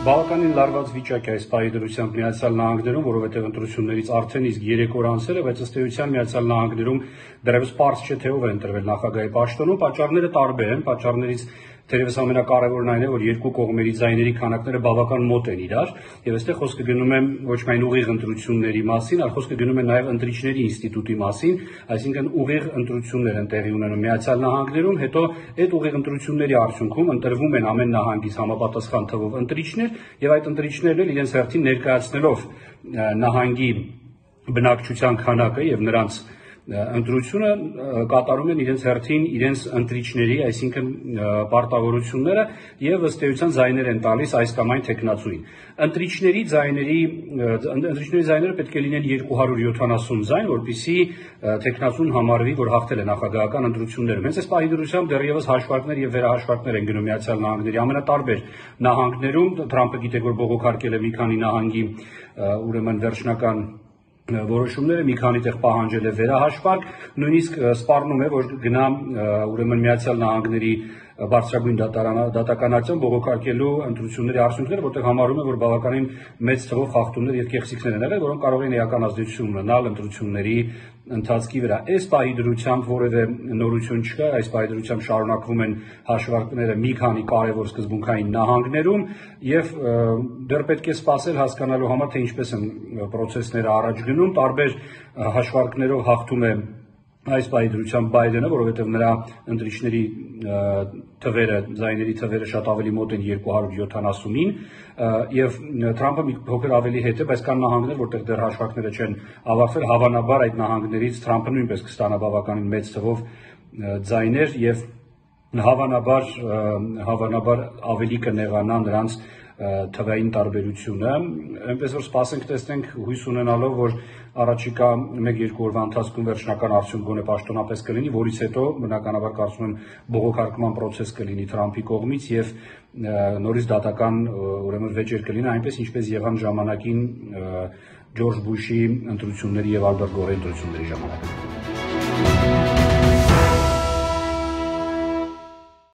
Բավականին լարված վիճակ է այս պահի դրությամբ Միացյալ Նահանգներում, որովհետև ընտրություններից արդեն իսկ 3 օր անցել է, բայց ըստ էության Միացյալ Նահանգներում դեռևս պարզ չէ, թե ով է ընտրվել նախագահի պաշտոնում։ Պատճառները տարբեր են, պատճառներից թերևս ամենակարևորն այն է, որ երկու կողմերի ձայների քանակները բավական մոտ են իրար, եւ այստեղ խոսքը գնում է ոչ միայն ուղիղ ընտրությունների մասին, այլ խոսքը գնում է նաեւ ընտրիչների ինստիտուտի մասին, այսինքն ուղիղ ընտրություններ են տեղի ունենում Միացյալ Նահանգներում, հետո այդ ուղիղ ընտրությունների արդյունքում ընտրվում են ամեն նահանգից համապատասխան թվով ընտրիչներ, եւ այդ ընտրիչներն էլ իրենց հերթին ներկայացնելով նահանգի բնակչության քանակը եւ նրանց ընտրությունը կատարում են իրենց հերթին իրենց ընտրիչների, այսինքն պարտավորությունները եւ ըստ էության ձայներ են տալիս այս կամ այն թեկնածուին։ Ընտրիչների ձայները պետք է լինեն 270 ձայն, որպեսզի թեկնածուն համարվի, որ հաղթել է նախագահական ընտրություններում։ Հենց այս պահի դրությամբ դեռևս հաշվարկներ եւ վերահաշվարկներ են գնում Միացյալ Նահանգների ամենատարբեր նահանգներում։ Թրամփը գիտեք, որ բողոքարկել է մի քանի նահանգի ուրեմն վերջնական որոշումները, մի քանի տեղ պահանջել է վերահաշվարկ, նույնիսկ սպառնում է, որ գնա ուրեմն Միացյալ Նահանգների բարձրագույն դատականարան բողոքարկելու ընտրությունների արդյունքները, որտեղ համարում է, որ բավականին մեծ թվով խախտումներ եւ կեղծիքներ են եղել, որոնք կարող են էական ազդեցություն ունենալ ընտրությունների ընթացքի վրա։ Այս պահի դրությամբ որևէ նորություն չկա, այս պահի դրությամբ շարունակվում են հաշվարկները մի քանի կարևոր սկզբունքային նահանգներում եւ դեռ պետք է սպասել հասկանալու համար, թե ինչպես են process-ները առաջ գնում, տարբեր հաշվարկներով հաղթում է այս պահի դրությամբ Բայդենը, որովհետև նրա ընտրիչների թվերը, ձայների թվերը շատ ավելի մոտ են 270-ին, եւ Թրամփը մի փոքր ավելի հետ է, բայց կան նահանգներ, որտեղ դեռ հաշվարկները չեն ավարտվել, հավանաբար այդ նահանգներից Թրամփը նույնպես կստանա բավականին մեծ թվով ձայներ եւ հավանաբար ավելի կնեղանա նրանց թվային տարբերությունը, այնպես որ սպասենք տեսնենք, հույս ունենալով, որ առաջիկա 1-2 օրվա ընթացքում վերջնական արդյունք գոնե պաշտոնապես կլինի, որից հետո բնականաբար կարծում եմ բողոքարկման process կլինի Թրամփի կողմից եւ նորից դատական ուրեմն վեճեր կլինի, այնպես ինչպես եղան ժամանակին Ջորջ Բուշի ընտրությունների եւ Ալբերտ Գորի ընտրությունների ժամանակ։